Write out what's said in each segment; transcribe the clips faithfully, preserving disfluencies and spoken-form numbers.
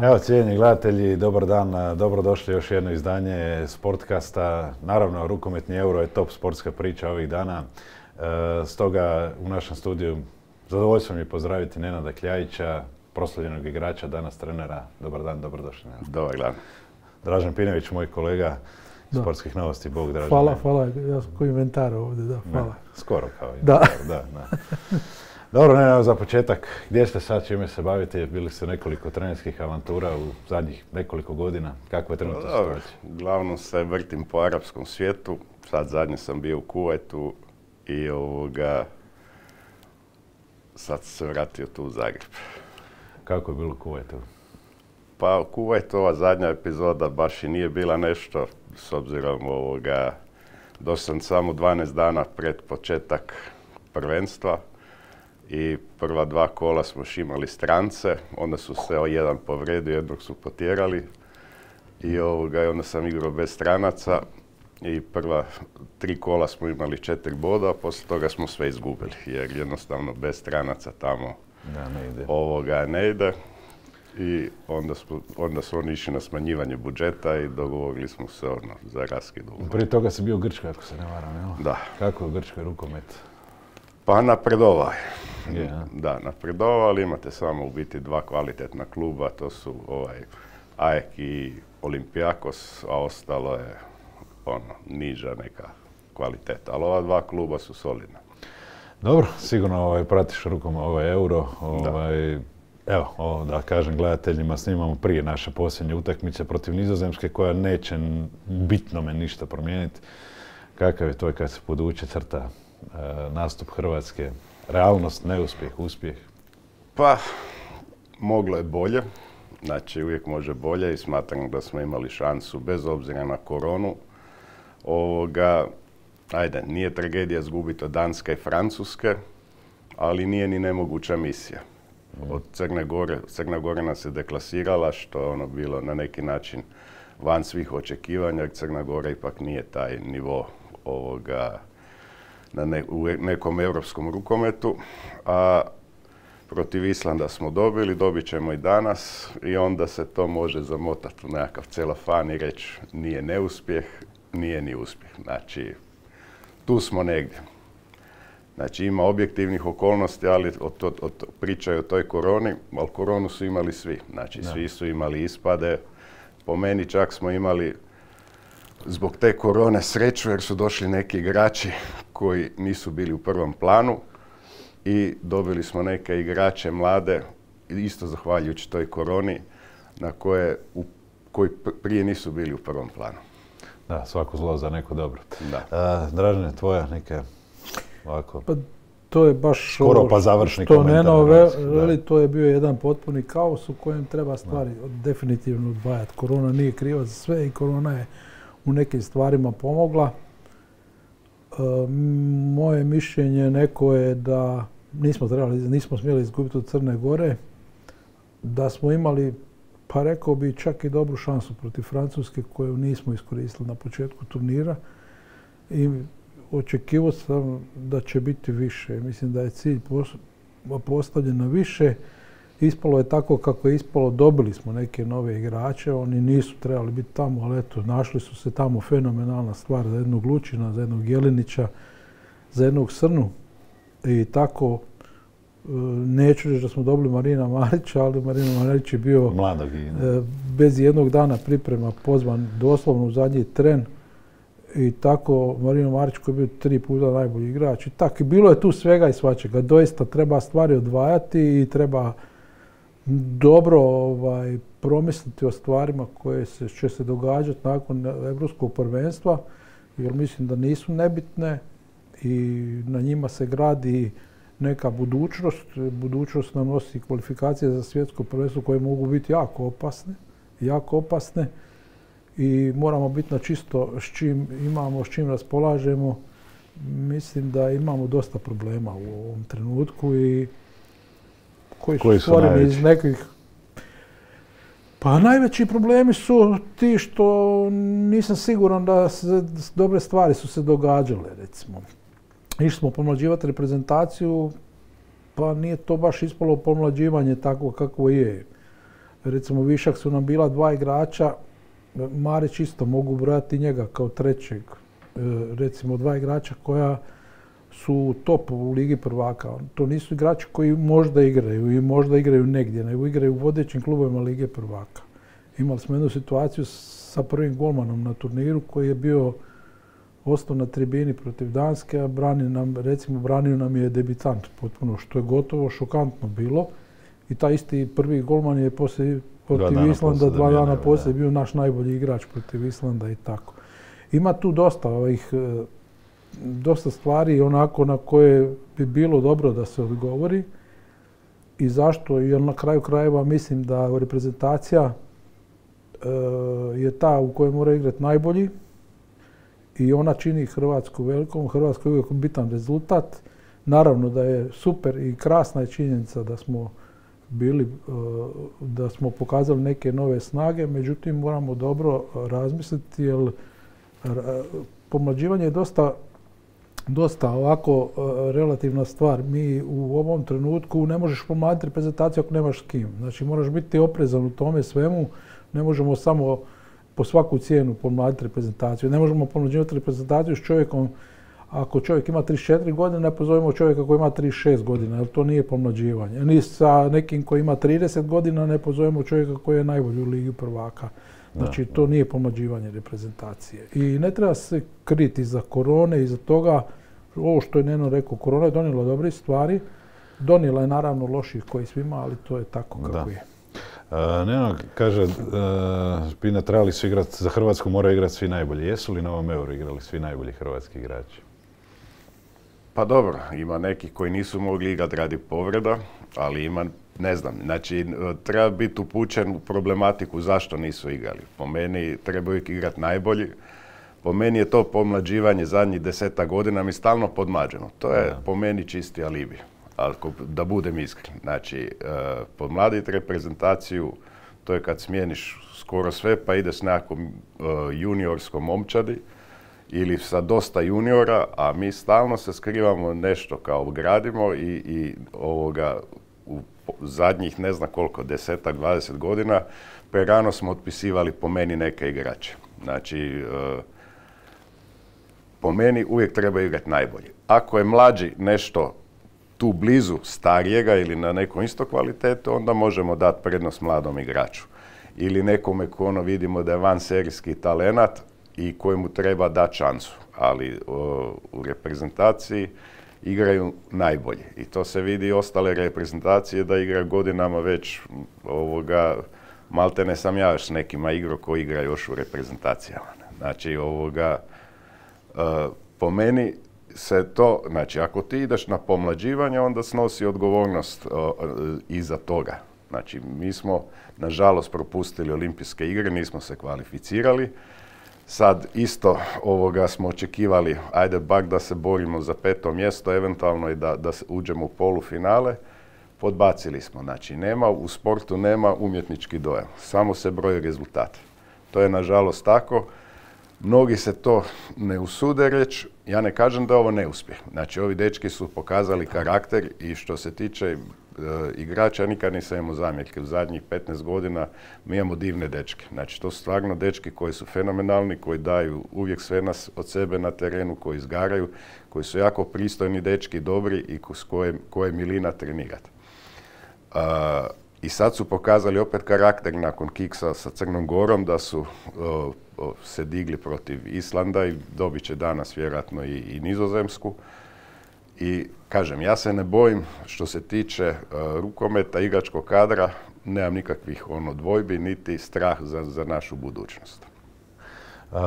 Evo, cijenjeni gledatelji, dobar dan, dobrodošli još jedno izdanje Sportkasta. Naravno, rukometni Euro je top sportska priča ovih dana. E, stoga u našem studiju zadovoljstvo mi je pozdraviti Nenada Kljajića, proslavljenog igrača, danas trenera. Dobar dan, dobrodošli. Dobar dan. Dražen Pinović, moj kolega iz Sportskih novosti. Bog, Dražen. Hvala, hvala. Ja sam koji inventar ovdje, da, hvala. Ne, skoro kao da. da, da. Dobro, ne, za početak, gdje ste sad, čime se bavite? Bili ste nekoliko trenerskih avantura u zadnjih nekoliko godina. Kakva je trenutna situacija? Uglavnom se vrtim po arapskom svijetu. Sad zadnje sam bio u Kuvajtu i ovoga, sad sam se vratio tu u Zagreb. Kako je bilo u Kuvajtu? Pa u Kuvajtu ova zadnja epizoda baš i nije bila nešto, s obzirom ovoga, došao sam samo dvanaest dana pred početak prvenstva. I prva dva kola smo još imali strance, onda su se jedan povredio, jednog su potjerali i ovoga, onda sam igrao bez stranaca i prva tri kola smo imali četiri boda, a poslije toga smo sve izgubili jer jednostavno bez stranaca tamo da, ne ide. ovoga ne ide. I onda, smo, onda su oni išli na smanjivanje budžeta i dogovorili smo se ono, za raskid ugovora. Prije toga si bio u Grčkoj, ako se ne varam, jel? Da. Kako je u Grčkoj rukomet? Pa napredovao je. Yeah. Da, napredovao, ali imate samo u biti dva kvalitetna kluba, to su ovaj A E K i Olympiakos, a ostalo je ono, niža neka kvaliteta. Ali ova dva kluba su solidna. Dobro, sigurno ovaj, pratiš rukom ovaj Euro. Ovaj, evo, ovo, da kažem gledateljima, snimamo prije naše posljednje utakmice protiv Nizozemske koja neće bitnome ništa promijeniti. Kakav je to kad se podvuče crta e, nastup Hrvatske? Realnost, neuspjeh, uspjeh? Pa, moglo je bolje. Znači, uvijek može bolje i smatram da smo imali šansu bez obzira na koronu. Ovoga, ajde, nije tragedija izgubiti od Danske i Francuske, ali nije ni nemoguća misija. Od Crne Gore, Crna Gora nas je deklasirala, što je ono bilo na neki način van svih očekivanja, jer Crna Gora ipak nije taj nivo ovoga, na ne, u nekom europskom rukometu, a protiv Islanda smo dobili, dobit ćemo i danas i onda se to može zamotati u nekakav celofan i reći nije neuspjeh, nije ni uspjeh. Znači, tu smo negdje. Znači, ima objektivnih okolnosti, ali od, od, od, pričaju o toj koroni, ali koronu su imali svi. Znači, svi su imali ispade. Po meni čak smo imali zbog te korone sreću jer su došli neki igrači koji nisu bili u prvom planu i dobili smo neke igrače mlade, isto zahvaljujući toj koroni, na koje, u, koji prije nisu bili u prvom planu. Da, svako zlo za neko dobro. Da. A, Dražene, tvoja neka ovako... Pa, to je baš skoro pa završni što komentar. Neno veli, to je bio jedan potpuni kaos u kojem treba stvari da. definitivno odvajati. Korona nije kriva za sve i korona je u nekim stvarima pomogla. E, moje mišljenje neko je da nismo trebali, nismo smjeli izgubiti od Crne Gore, da smo imali, pa rekao bi, čak i dobru šansu protiv Francuske koju nismo iskoristili na početku turnira i očekivao sam da će biti više. Mislim da je cilj postavljen na više. Ispalo je tako kako je ispalo, dobili smo neke nove igrače, oni nisu trebali biti tamo, ali eto, našli su se tamo, fenomenalna stvar za jednog Lučina, za jednog Jelinića, za jednog Srnu. I tako, neću reći da smo dobili Marina Marića, ali Marina Marić je bio Mladog, bez jednog dana priprema pozvan doslovno u zadnji tren. I tako, Marino Marić koji je bio tri puta najbolji igrač. I tako, bilo je tu svega i svačega. Doista treba stvari odvajati i treba dobro ovaj, promisliti o stvarima koje se, će se događati nakon Europskog prvenstva, jer mislim da nisu nebitne i na njima se gradi neka budućnost. Budućnost nam nosi kvalifikacije za svjetsko prvenstvo koje mogu biti jako opasne, jako opasne. I moramo biti na čisto s čim imamo, s čim raspolažemo. Mislim da imamo dosta problema u ovom trenutku i koji su, koji su stvoreni iz nekih... Pa najveći problemi su ti što nisam siguran da se, dobre stvari su se događale, recimo. Išli smo pomlađivati reprezentaciju, pa nije to baš ispalo pomlađivanje tako kako je. Recimo višak su nam bila dva igrača, Marić isto mogu brojati njega kao trećeg. Recimo dva igrača koja su top u Ligi prvaka. To nisu igrači koji možda igraju i možda igraju negdje, nego igraju u vodećim klubovima Lige prvaka. Imali smo jednu situaciju sa prvim golmanom na turniru koji je bio ostao na tribini protiv Danske, a brani nam, recimo branio nam je debitant potpuno, što je gotovo šokantno bilo. I taj isti prvi golman je poslije protiv Islanda, dva dana poslije bio naš najbolji igrač protiv Islanda i tako. Ima tu dosta ovih, dosta stvari onako na koje bi bilo dobro da se odgovori. I zašto? Jer na kraju krajeva mislim da reprezentacija je ta u kojoj mora igrati najbolji i ona čini Hrvatsku velikom. Hrvatska je uvijek bitan rezultat. Naravno da je super i krasna je činjenica da smo bili, da smo pokazali neke nove snage, međutim moramo dobro razmisliti jer pomlađivanje je dosta, dosta ovako relativna stvar. Mi u ovom trenutku ne možeš pomladiti reprezentaciju ako nemaš s kim. Znači moraš biti oprezan u tome svemu. Ne možemo samo po svaku cijenu pomladiti reprezentaciju. Ne možemo pomlađivati reprezentaciju s čovjekom, ako čovjek ima trideset četiri godine, ne pozovemo čovjeka koji ima trideset šest godina, jer to nije pomlađivanje. Ni sa nekim koji ima trideset godina ne pozovemo čovjeka koji je najbolji u Ligi prvaka. Znači, to nije pomlađivanje reprezentacije. I ne treba se kriti iza korone, iza toga, ovo što je Neno rekao, korona je donijela dobrih stvari, donijela je naravno loših koji svima, ali to je tako kako je. Neno kaže, Pina, trebali su igrati, za Hrvatsku moraju igrati svi najbolji. Jesu li na ovom Euru igrali svi najbolji hrvatski igrači? Pa dobro, ima neki koji nisu mogli igrati radi povreda, ali ima, ne znam, znači treba biti upućen u problematiku zašto nisu igrali. Po meni trebaju igrati najbolji. Po meni je to pomlađivanje zadnjih deseta godina mi stalno podmlađeno. To je po meni čisti alibi. Da budem iskren. Znači, podmladiti reprezentaciju, to je kad smijeniš skoro sve pa ideš s nekakvom juniorskom momčadi ili sa dosta juniora, a mi stalno se skrivamo nešto kao gradimo i, i ovoga u zadnjih ne znam koliko, desetak, dvadeset godina, prerano smo otpisivali po meni neke igrače. Znači, po meni uvijek treba igrati najbolji. Ako je mlađi nešto tu blizu starijega ili na nekom isto kvalitetu, onda možemo dati prednost mladom igraču. Ili nekome ko ono vidimo da je vanserijski talenat i kojemu treba dati šansu. Ali o, u reprezentaciji igraju najbolji. I to se vidi i ostale reprezentacije da igraju godinama već ovoga, maltene sam ja još s nekima igrao koji igra još u reprezentacijama. Znači ovoga, e, po meni se to, znači ako ti ideš na pomlađivanje, onda snosi odgovornost o, iza toga. Znači mi smo nažalost propustili olimpijske igre, nismo se kvalificirali. Sad isto ovoga smo očekivali, ajde bak da se borimo za peto mjesto, eventualno i da, da uđemo u polufinale. Podbacili smo, znači nema, u sportu nema umjetnički dojam, samo se broje rezultate. To je nažalost tako. Mnogi se to ne usude reći, ja ne kažem da je ovo neuspjeh. Znači, ovi dečki su pokazali karakter i što se tiče e, igrača, nikad nisam imao zamjerke. U zadnjih petnaest godina mi imamo divne dečke. Znači, to su stvarno dečki koji su fenomenalni, koji daju uvijek sve nas od sebe na terenu, koji izgaraju, koji su jako pristojni dečki, dobri i s koje, koje milina trenirati. E, I sad su pokazali opet karakter nakon kiksa sa Crnom Gorom, da su o, o, se digli protiv Islanda i dobit će danas vjerojatno i, i Nizozemsku. I kažem, ja se ne bojim što se tiče uh, rukometa, igračkog kadra, nemam nikakvih ono, dvojbi, niti strah za, za našu budućnost. Uh,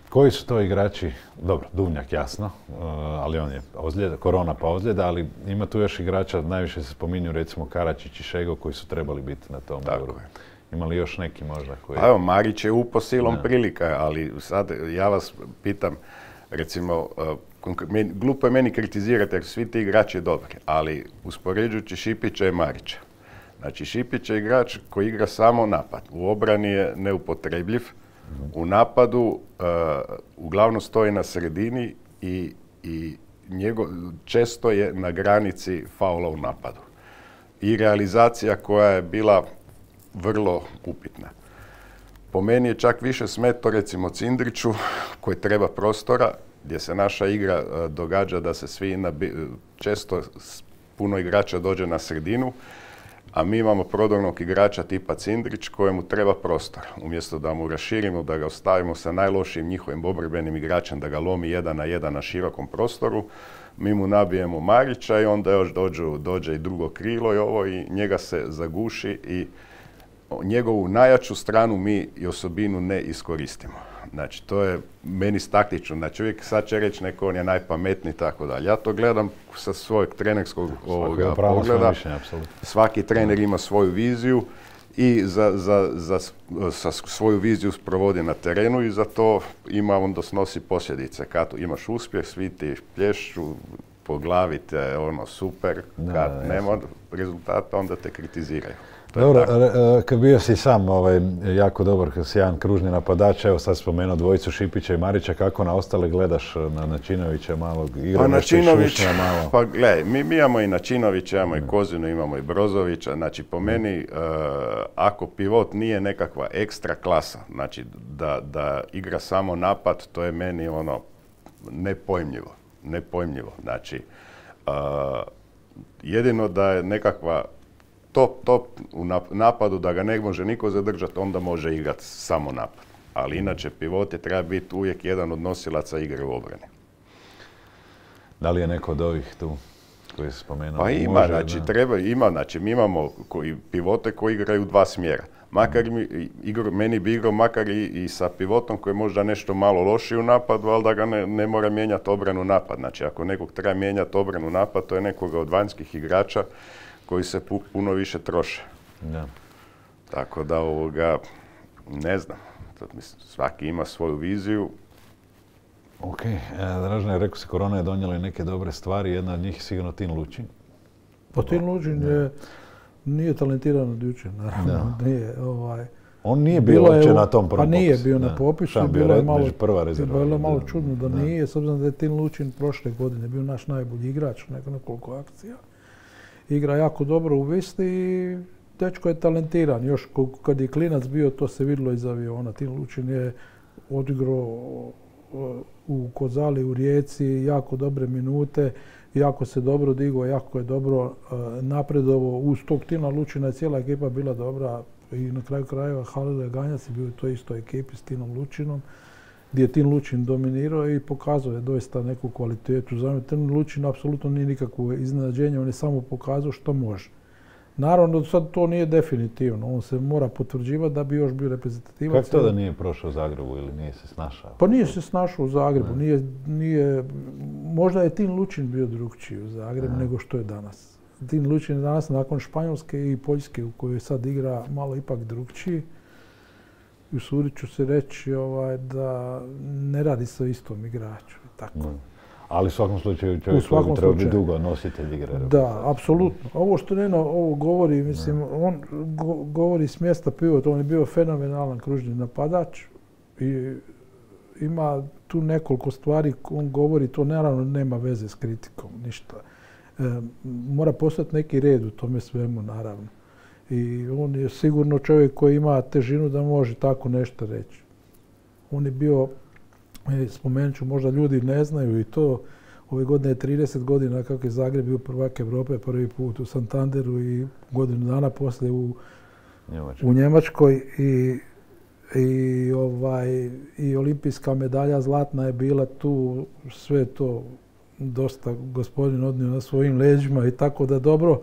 koji su to igrači? Dobro, Duvnjak jasno, uh, ali on je ozljeda, korona pa ozljeda, ali ima tu još igrača, najviše se spominju recimo Karačić i Šego koji su trebali biti na tom Euro. Ima li još neki možda koji... Pa evo, Marić je upo silom prilika, ali sad ja vas pitam, recimo, uh, glupo je meni kritizirati jer svi ti igrači dobri, ali uspoređujući Šipića i Marića. Znači, Šipić je igrač koji igra samo napad. U obrani je neupotrebljiv. U napadu uh, uglavnom stoji na sredini i, i njego, često je na granici faula u napadu. I realizacija koja je bila vrlo upitna. Po meni je čak više smeto recimo Cindriću koji treba prostora, gdje se naša igra uh, događa da se svi nabi, često puno igrača dođe na sredinu, a mi imamo prodornog igrača tipa Cindrić kojemu treba prostor. Umjesto da mu raširimo, da ga ostavimo sa najlošijim njihovim obrbenim igračem, da ga lomi jedan na jedan na širokom prostoru, mi mu nabijemo Marića i onda još dođu, dođe i drugo krilo i ovo i njega se zaguši i njegovu najjaču stranu mi i osobinu ne iskoristimo. Znači, to je meni taktično. Znači, uvijek sad će reći neko on je najpametniji i tako dalje. Ja to gledam sa svojeg trenerskog ovoga pogleda. Mišljenje, svaki trener ima svoju viziju i za, za, za, za svoju viziju sprovodi na terenu i za to ima onda snosi posljedice. Kad imaš uspjeh, svi ti plješću po glavi te ono super, kad da, nema rezultata onda te kritiziraju. Dobro, kad bio si sam ovaj, jako dobar, kad si jedan kružni napadač, evo sad spomenuo dvojicu Šipića i Marića, kako na ostale gledaš, na Načinovića malog igra, pa nešto Načinović, i Šušnja malo? Pa gledaj, mi, mi imamo i Načinovića, imamo i Kozinu, imamo i Brozovića, znači po meni, uh, ako pivot nije nekakva ekstra klasa, znači da, da igra samo napad, to je meni ono nepojmljivo, nepojmljivo, znači uh, jedino da je nekakva top, top u napadu, da ga ne može niko zadržati, onda može igrati samo napad. Ali inače, pivot je treba biti uvijek jedan od nosilaca igre u obrani. Da li je neko od ovih tu koji se spomenuo? Pa ima, može, znači, da. treba, ima, znači, mi imamo koji, pivote koji igraju dva smjera. Makar mi, igru, meni bi igrao makar i, i sa pivotom koji je možda nešto malo lošiji u napadu, ali da ga ne, ne mora mijenjati obranu napad. Znači, ako nekog treba mijenjati obranu napad, to je nekoga od vanjskih igrača koji se pu, puno više troše. Da. Tako da ovoga, ne znam, mislim, svaki ima svoju viziju. Ok, e, Dražene, rekao si, korona je donijela neke dobre stvari, jedna od njih je sigurno Tin Lučin. Pa Tin Lučin je, nije talentiran od jučer, naravno. Nije, ovaj, on nije bio uopće na tom prvom popisu. Pa nije bio da. na popisu, Šta, bilo je malo, prva rezerva. Bilo je malo čudno da, da nije, s obzirom da je Tin Lučin prošle godine bio naš najbolji igrač, neko nekoliko akcija. Igra jako dobro u Visti i dečko je talentiran. Još kad je klinac bio, to se vidjelo iz aviona. Tin Lučin je odigrao u Kozali, u Rijeci, jako dobre minute, jako se dobro digao, jako je dobro napredovao. Uz tog Tina Lučina je cijela ekipa bila dobra i na kraju krajeva Halil Ganjac je bio u toj istoj ekipi s Tinom Lučinom, gdje je Tin Lučin dominirao i pokazao je doista neku kvalitetu. Za Tin Lučin apsolutno nije nikakvo iznenađenje, on je samo pokazao što može. Naravno, sad to nije definitivno, on se mora potvrđivati da bi još bio reprezentativac. Kako to da nije prošao u Zagrebu ili nije se snašao? Pa nije se snašao u Zagrebu, nije, nije, možda je Tin Lučin bio drugčiji u Zagrebu nego što je danas. Tin Lučin je danas nakon Španjolske i Poljske u kojoj sad igra malo ipak drugčiji. I usudit ću se reći ovaj, da ne radi se o istom igraču. Tako. Mm. Ali u svakom slučaju čovjek koji treba biti dugo nositelj igre. Da, apsolutno. Ovo što Neno ovo govori, mislim, ne. on go, govori s mjesta pivota, on je bio fenomenalan kružni napadač i ima tu nekoliko stvari, on govori, to naravno nema veze s kritikom, ništa. E, mora postati neki red u tome svemu, naravno. I on je sigurno čovjek koji ima težinu da može tako nešto reći. On je bio, spomenut ću, možda ljudi ne znaju i to, ove godine je trideset godina kako je Zagreb bio prvak Europe prvi put u Santanderu i godinu dana poslije u Njemačkoj, u Njemačkoj i, i, ovaj, i olimpijska medalja zlatna je bila tu, sve to dosta gospodin odnio na svojim leđima i tako da dobro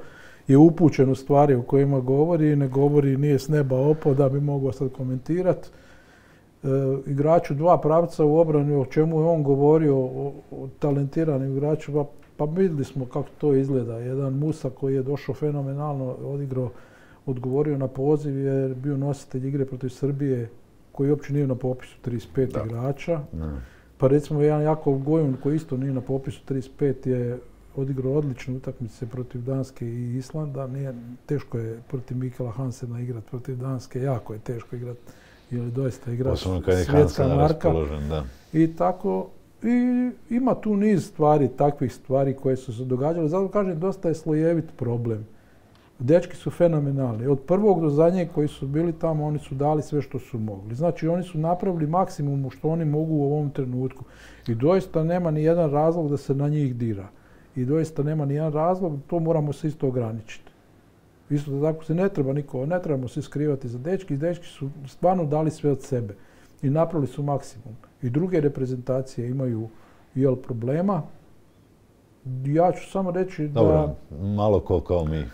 je upućen u stvari o kojima govori i ne govori, nije s neba opao da bi mogao sad komentirati. E, igraču dva pravca u obrani, o čemu je on govorio, o, o talentiranim igraču, pa, pa vidjeli smo kako to izgleda. Jedan Musa koji je došao fenomenalno, odigrao, odgovorio na poziv, je bio nositelj igre protiv Srbije, koji uopće nije na popisu trideset pet da. igrača. Da. Pa recimo jedan Jakov Gojun koji isto nije na popisu trideset pet je odigrao odlične utakmice protiv Danske i Islanda. Nije, teško je protiv Mikela Hansena igrati protiv Danske, jako je teško igrati. Jer je doista igrač svjetska marka. Da. I tako, i ima tu niz stvari, takvih stvari koje su se događale. Zato kažem, dosta je slojevit problem. Dečki su fenomenalni. Od prvog do zadnjeg koji su bili tamo, oni su dali sve što su mogli. Znači, oni su napravili maksimum što oni mogu u ovom trenutku. I doista nema ni jedan razlog da se na njih dira. I doista nema ni jedan razlog, to moramo se isto ograničiti. Isto tako se ne treba niko, ne trebamo se skrivati za dečki. Dečki su stvarno dali sve od sebe i napravili su maksimum. I druge reprezentacije imaju jel problema. Ja ću samo reći da... Dobro, malo ko kao mi.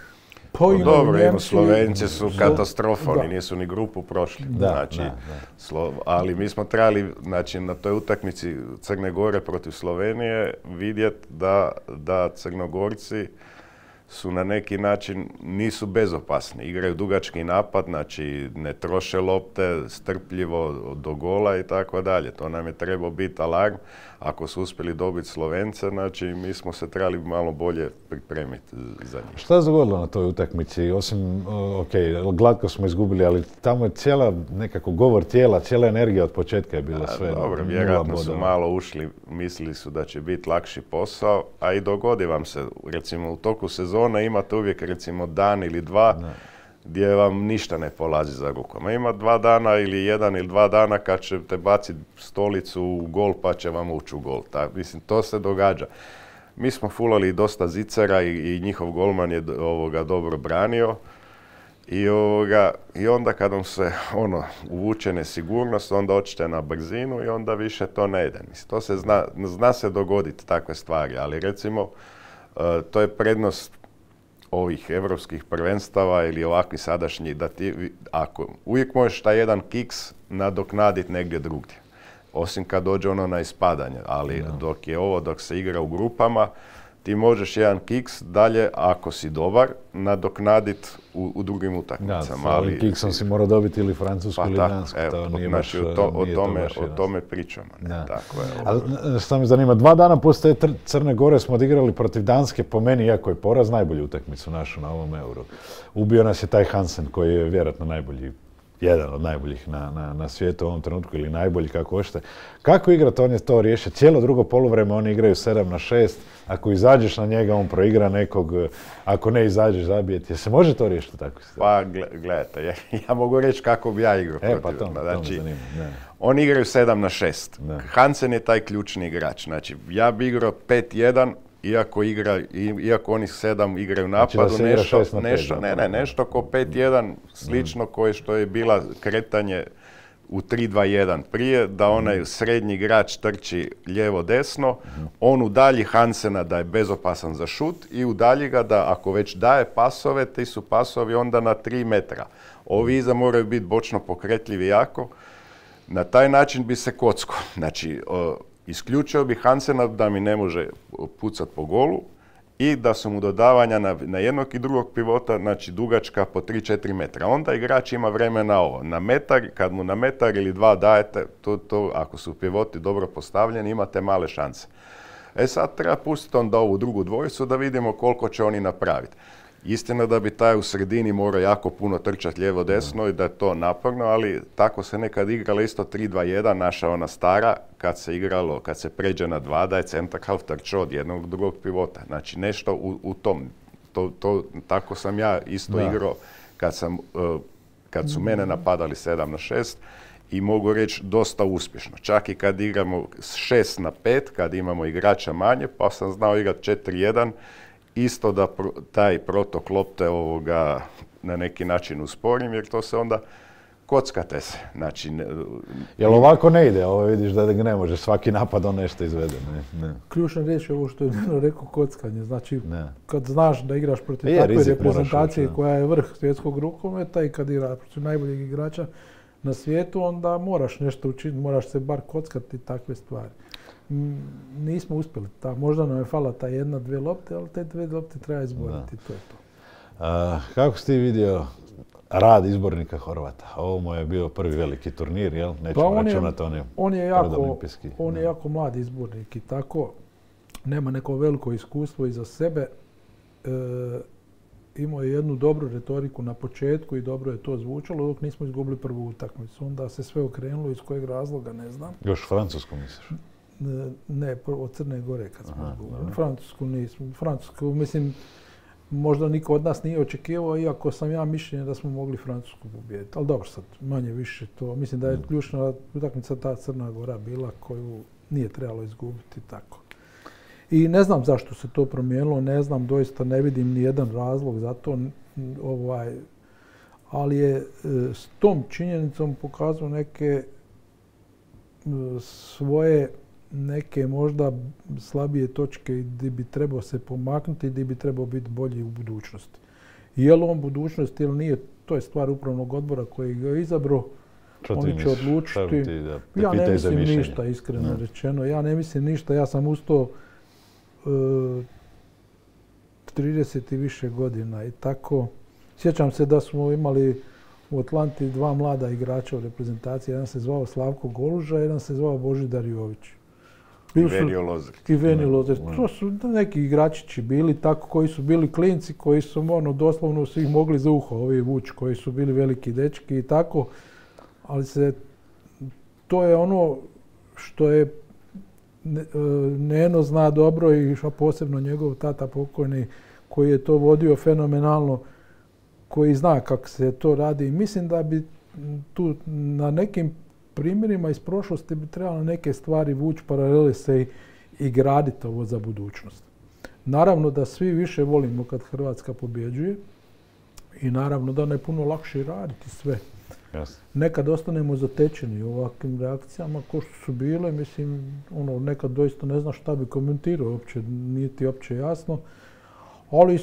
Pa no, imaju dobro, Njemci, Slovenci su katastrofa, da. oni nisu ni grupu prošli. Da, znači, da, da. Slo, ali mi smo trebali znači, na toj utakmici Crne Gore protiv Slovenije vidjeti da, da Crnogorci su na neki način nisu bezopasni. Igraju dugački napad, znači ne troše lopte, strpljivo do gola i tako dalje. To nam je trebao biti alarm. Ako su uspjeli dobiti Slovence, znači mi smo se trebali malo bolje pripremiti za njih. Šta se dogodilo na toj utakmici? Osim, ok, glatko smo izgubili, ali tamo je cijela nekako govor tijela, cijela energija od početka je bila sve. A, dobro, vjerojatno su malo ušli, mislili su da će biti lakši posao, a i dogodi vam se. Recimo u toku sezone imate uvijek recimo dan ili dva ne. gdje vam ništa ne polazi za rukom. A ima dva dana ili jedan ili dva dana kad ćete baciti stolicu u gol pa će vam ući u gol. Ta, mislim, to se događa. Mi smo fulali dosta zicera i, i njihov golman je ovoga dobro branio. I, ovoga, I onda kad vam se ono, uvuče nesigurnost, onda očite na brzinu i onda više to ne ide. Mislim, to se zna, zna se dogoditi takve stvari, ali recimo uh, to je prednost ovih evropskih prvenstava ili ovakvi sadašnji, da ti, ako uvijek možeš taj jedan kiks nadoknaditi negdje drugdje. Osim kad dođe ono na ispadanje, ali no. dok je ovo, dok se igra u grupama, ti možeš jedan kiks dalje, ako si dobar, nadoknaditi u, u drugim utakmicama. Da, ali kiksom si morao dobiti ili Francusku pa ili Dansku. To nije znači, baš, to, o, tome, to o tome pričamo. Ne, tako je. Ali što me zanima, dva dana poslije Crne Gore smo odigrali protiv Danske, po meni, iako je poraz, najbolju utakmicu našu na ovom Euru. Ubio nas je taj Hansen, koji je vjerojatno najbolji, jedan od najboljih na, na, na svijetu u ovom trenutku, ili najbolji, kako hoćete. Kako igrati, on je to riješio. Cijelo drugo poluvreme oni igraju sedam na šest. Ako izađeš na njega, on proigra nekog. Ako ne izađeš, zabijeti. Jel se može to riješiti tako? Pa, gledajte, ja, ja mogu reći kako bi ja igrao. E, pa to, znači, to me zanima. Ne. Oni igraju sedam na šest. Ne. Hansen je taj ključni igrač. Znači, ja bi igrao pet jedan, iako, igra, iako oni sedam igraju napadu, znači nešto, nešto, nešto, ne, ne, nešto ko pet jedan, slično mm. koje što je bila kretanje u tri dva jedan prije, da onaj srednji igrač trči lijevo-desno, mm. on udalji Hansena da je bezopasan za šut i udalji ga da ako već daje pasove, ti su pasovi onda na tri metra. Ovi iza moraju biti bočno pokretljivi jako. Na taj način bi se kocko. Znači, o, isključio bi Hansena da mi ne može pucati po golu i da su mu dodavanja na, na jednog i drugog pivota, znači dugačka po tri četiri metra. Onda igrač ima vremena ovo. Na metar, kad mu na metar ili dva dajete, to, to, ako su pivoti dobro postavljeni, imate male šanse. E sad treba pustiti onda ovu drugu dvojicu da vidimo koliko će oni napraviti. Istina da bi taj u sredini morao jako puno trčati lijevo-desno i da je to naporno, ali tako se nekad igralo isto tri dva jedan, naša ona stara, kad se igralo, kad se pređe na dva, da je centar half trčao od jednog do drugog pivota. Znači nešto u, u tom. To, to, tako sam ja isto da. igrao kad, sam, uh, kad su mene napadali sedam na šest i mogu reći dosta uspješno. Čak i kad igramo šest na pet, kad imamo igrača manje, pa sam znao igrati četiri jedan, isto da pro, taj protok lopte ovoga na neki način usporim, jer to se onda kockate se. Znači, ne, Jel ovako ne ide? Ovo vidiš da ne može svaki napad on nešto izvede. Ne, ne. Ključna riječ je ovo što je rekao kockanje. Znači, ne. kad znaš da igraš protiv je, takve reprezentacije koja je vrh svjetskog rukometa i kad igraš protiv najboljeg igrača na svijetu, onda moraš nešto učiniti, moraš se bar kockati takve stvari. Nismo uspjeli. Ta, možda nam je fala ta jedna, dvije lopte, ali te dvije lopte treba izboriti. Da. To je to. A, kako si ti vidio rad izbornika Horvata? Ovo mu je bio prvi veliki turnir, jel? Nećemo pa računati on je, on je jako, on je jako mlad izbornik i tako nema neko veliko iskustvo iza sebe. E, imao je jednu dobru retoriku na početku i dobro je to zvučalo dok nismo izgubili prvu utakmicu. Onda se sve okrenulo, iz kojeg razloga ne znam. Još u Francusku misliš? Ne, od Crne Gore kad smo izgubili. Francusku nismo. Francusku, mislim, možda niko od nas nije očekivao, iako sam ja mišljenja da smo mogli Francusku pobijediti. Ali dobro sad, manje više to. Mislim da je ključna utakmica ta Crna Gora bila koju nije trebalo izgubiti tako. I ne znam zašto se to promijenilo, ne znam, doista ne vidim ni jedan razlog za to, ovaj, ali je s tom činjenicom pokazao neke svoje neke možda slabije točke gdje bi trebao se pomaknuti i gdje bi trebao biti bolji u budućnosti. Je li on budućnost ili nije, to je stvar upravnog odbora koji ga je izabrao. Oni će odlučiti. Ja ne mislim ništa, iskreno rečeno. Ja ne mislim ništa. Ja sam ustao trideset i više godina i tako. Sjećam se da smo imali u Atlanti dva mlada igrača u reprezentaciji. Jedan se zvao Slavko Goluža, jedan se zvao Božidar Jović. I Venio Lozert. I Venio Lozert. To su neki igračići bili tako koji su bili klinci, koji su ono, doslovno su ih mogli za uho, ovi vući koji su bili veliki dečki i tako. Ali se, to je ono što je Neno zna dobro i posebno njegov tata pokojni koji je to vodio fenomenalno, koji zna kako se to radi. I mislim da bi tu na nekim primjerima iz prošlosti bi trebalo neke stvari vući paralele se i, i graditi ovo za budućnost. Naravno da svi više volimo kad Hrvatska pobjeđuje i naravno da je puno lakše raditi sve. Yes. Nekad ostanemo zatečeni u ovakvim reakcijama ko što su bile, mislim, ono, nekad doista ne zna šta bi komentirao, uopće, nije ti uopće jasno, ali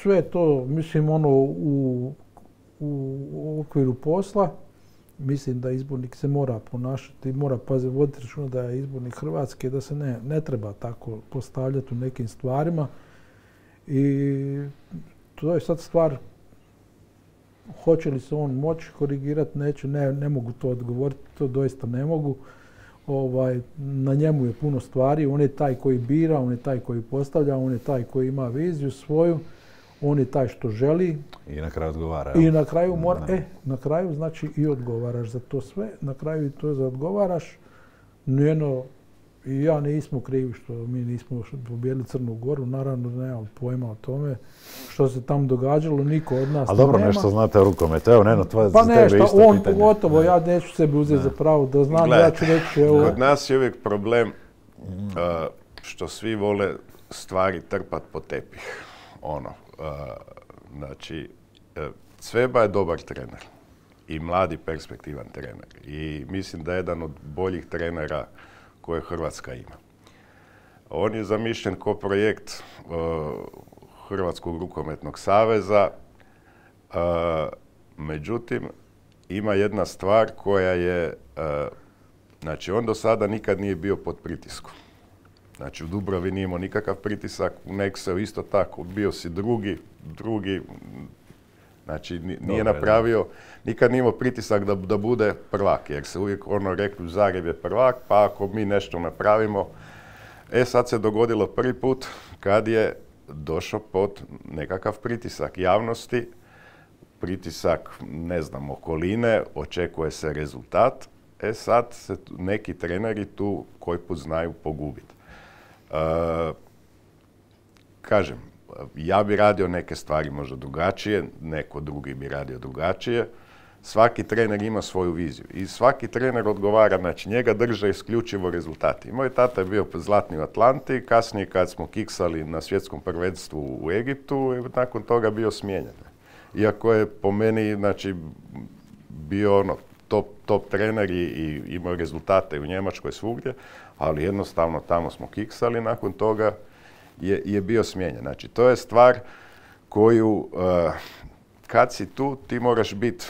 sve to, mislim, ono, u, u okviru posla, mislim da izbornik se mora ponašati, mora paziti, voditi računa da je izbornik Hrvatske, da se ne, ne treba tako postavljati u nekim stvarima i to je sad stvar. Hoće li se on moći korigirati, neće, ne, ne mogu to odgovoriti, to doista ne mogu. Ovaj, na njemu je puno stvari, on je taj koji bira, on je taj koji postavlja, on je taj koji ima viziju svoju, on je taj što želi. I na kraju odgovara. I na kraju mora, e, na kraju znači i odgovaraš za to sve, na kraju i to za odgovaraš. Njeno, i ja nismo krivi što mi nismo pobijedili Crnu Goru, naravno da nemam pojma o tome što se tam događalo, niko od nas ali dobro, nema. Nešto znate o rukometu, evo Neno, tvoje pa za tebe nešto, isto on pitanje. pogotovo, ja neću sebi uzeti za pravo da znam, Gledaj, ja ću reći evo. Kod nas je uvijek problem uh, što svi vole stvari trpat po tepih. Ono, uh, znači, uh, Cveba je dobar trener i mladi perspektivan trener i mislim da je jedan od boljih trenera koje Hrvatska ima. On je zamišljen kao projekt uh, Hrvatskog rukometnog saveza, uh, međutim ima jedna stvar koja je, uh, znači on do sada nikad nije bio pod pritiskom. Znači u Dubravi nije imao nikakav pritisak, u Nexeu isto tako, bio si drugi, drugi, znači nije Dobre, napravio, nikad nije imao pritisak da, da bude prvak, jer se uvijek ono rekli Zagreb je prvak, pa ako mi nešto napravimo. E sad se dogodilo prvi put kad je došao pod nekakav pritisak javnosti, pritisak, ne znam, okoline, očekuje se rezultat. E sad se neki treneri tu koji put znaju pogubiti. E, kažem, ja bi radio neke stvari možda drugačije, neko drugi bi radio drugačije. Svaki trener ima svoju viziju i svaki trener odgovara, znači njega drže isključivo rezultati. Moj tata je bio zlatni u Atlanti, kasnije kad smo kiksali na svjetskom prvenstvu u Egiptu, nakon toga bio smijenjen. Iako je po meni, znači, bio ono, top, top trener i, i imao rezultate u Njemačkoj svugdje, ali jednostavno tamo smo kiksali, nakon toga je, je bio smijenjen. Znači, to je stvar koju, uh, kad si tu, ti moraš biti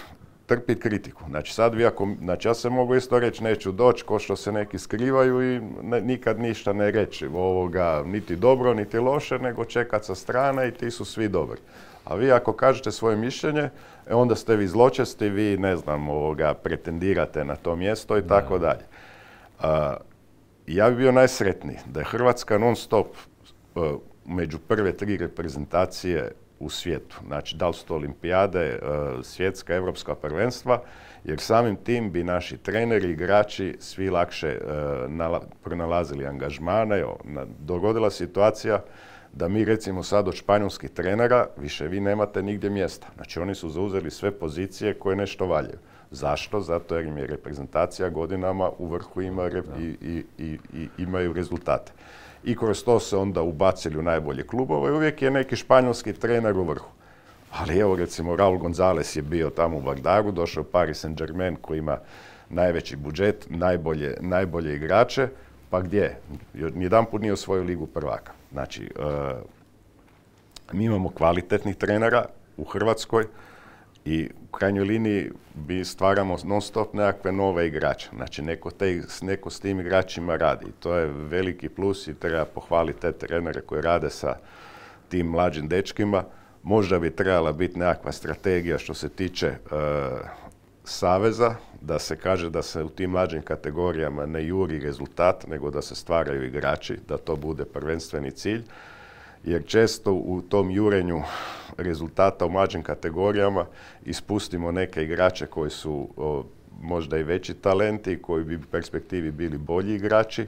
trpiti kritiku. Znači sad vi ako, znači ja se mogu isto reći neću doći, ko što se neki skrivaju i ne, nikad ništa ne reći ovoga, niti dobro, niti loše, nego čekat sa strane i ti su svi dobri. A vi ako kažete svoje mišljenje, e, onda ste vi zločesti, vi ne znam, ovoga, pretendirate na to mjesto i tako dalje. Ja bih bio najsretniji da je Hrvatska non stop uh, među prve tri reprezentacije u svijetu. Znači, da li su to olimpijade, svjetska, evropska prvenstva, jer samim tim bi naši treneri, igrači svi lakše pronalazili angažmane. Dogodila situacija da mi recimo sad od španjolskih trenera više vi nemate nigdje mjesta. Znači oni su zauzeli sve pozicije koje nešto valjaju. Zašto? Zato jer im je reprezentacija godinama u vrhu ima rep- i, i, i, i imaju rezultate. I kroz to se onda ubacili u najbolje klubove i uvijek je neki španjolski trener u vrhu. Ali evo recimo Raul Gonzalez je bio tamo u Bagdaru, došao u Paris Saint-Germain koji ima najveći budžet, najbolje, najbolje igrače, pa gdje? Nijedanput nije osvojio ligu prvaka. Znači, uh, mi imamo kvalitetnih trenera u Hrvatskoj i u krajnjoj liniji mi stvaramo non stop nekakve nove igrače. Znači, neko, te, neko s tim igračima radi. To je veliki plus i treba pohvaliti te trenere koji rade sa tim mlađim dečkima. Možda bi trebala biti nekakva strategija što se tiče uh, saveza, da se kaže da se u tim mlađim kategorijama ne juri rezultat, nego da se stvaraju igrači, da to bude prvenstveni cilj. Jer često u tom jurenju rezultata u mlađim kategorijama ispustimo neke igrače koji su o, možda i veći talenti, koji bi u perspektivi bili bolji igrači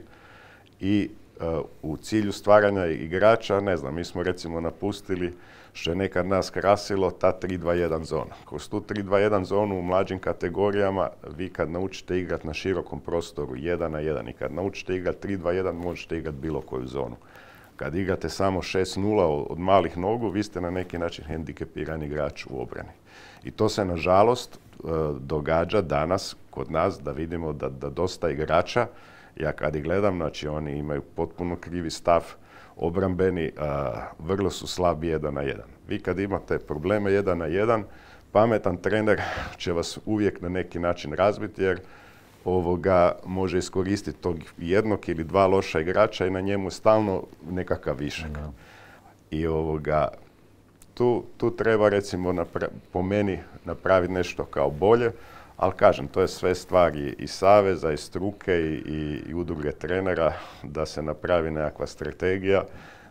i o, u cilju stvaranja igrača, ne znam, mi smo recimo napustili, što je nekad nas krasilo, ta tri dva jedan zona. Kroz tu tri dva jedan zonu u mlađim kategorijama vi kad naučite igrati na širokom prostoru jedan na jedan i kad naučite igrati tri dva jedan možete igrati bilo koju zonu. Kad igrate samo šest nula od malih nogu, vi ste na neki način hendikepirani igrač u obrani. I to se nažalost događa danas kod nas da vidimo da, da dosta igrača, ja kad ih gledam, znači oni imaju potpuno krivi stav, obrambeni, a, vrlo su slabi jedan na jedan. Vi kad imate probleme jedan na jedan, pametan trener će vas uvijek na neki način razbiti jer ovoga može iskoristiti tog jednog ili dva loša igrača i na njemu stalno nekakav višak. No. I ovoga, tu, tu treba recimo napra- po meni napraviti nešto kao bolje, ali kažem, to je sve stvar i, i saveza, i struke, i, i, i udruge trenera, da se napravi nekakva strategija.